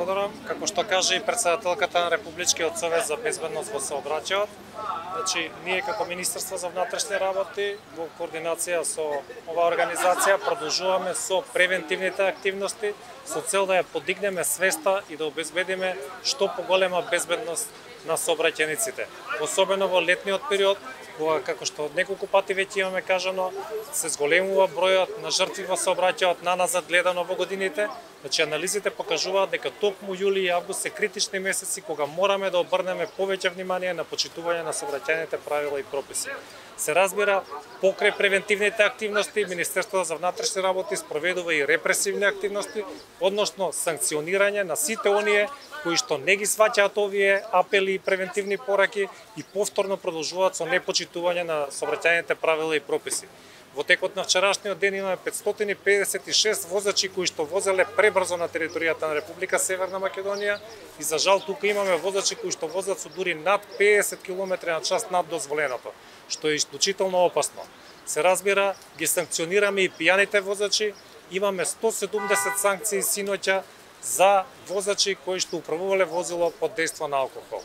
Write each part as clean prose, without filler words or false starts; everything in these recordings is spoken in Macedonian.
благодарам. Како што кажа и претседателката на Републичкиот совет за безбедност во сообраќајот, значи ние како Министерство за внатрешни работи во координација со оваа организација продолжуваме со превентивните активности со цел да ја подигнеме свеста и да обезбедиме што поголема безбедност на сообраќајниците. Особено во летниот период, кога, како што неколку пати веќе имаме кажано, се зголемува бројот на жртви во сообраќајот наназад гледано во годините. Значи анализите покажуваат дека токму јули и август се критични месеци кога мораме да обрнеме повеќе внимание на почитување на сообраќајните правила и прописи. Се разбира, покрај превентивните активности, Министерството за внатрешни работи спроведува и репресивни активности, односно санкционирање на сите оние кои што не ги сваќаат овие апели и превентивни пораки и повторно продолжуваат со непочитување на сообраќајните правила и прописи. Во текот на вчерашниот ден имаме 556 возачи кои што возеле пребрзо на територијата на Република Северна Македонија и за жал тука имаме возачи кои што возат со дури над 50 км/ч над дозволеното, што е исклучително опасно. Се разбира, ги санкционираме и пијаните возачи, имаме 170 санкции синоќа за возачи кои што управувале возило под дејство на алкохол.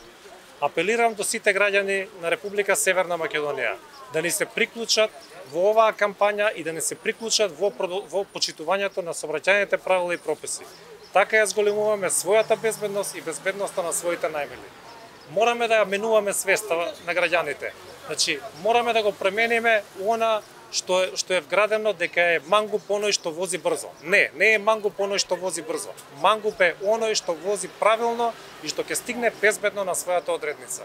Апелирам до сите граѓани на Република Северна Македонија да ни се приклучат во оваа кампања и да не се приклучат во почитувањето на сообраќајните правила и прописи. Така ја зголемуваме својата безбедност и безбедноста на своите најмили. Мораме да ја менуваме свеста на граѓаните. Значи, мораме да го премениме она што е вградено дека е мангуп оној што вози брзо. Не е мангуп оној што вози брзо. Мангуп е оној што вози правилно и што ќе стигне безбедно на својата одредница.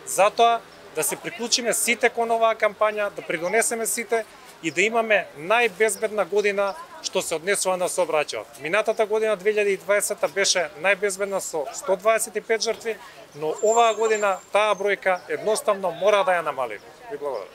Затоа да се приклучиме сите кон оваа кампања, да придонесеме сите и да имаме најбезбедна година што се однесува на сообраќајот. Минатата година 2020 беше најбезбедна со 125 жртви, но оваа година таа бројка едноставно мора да ја намали. Ви благодарам.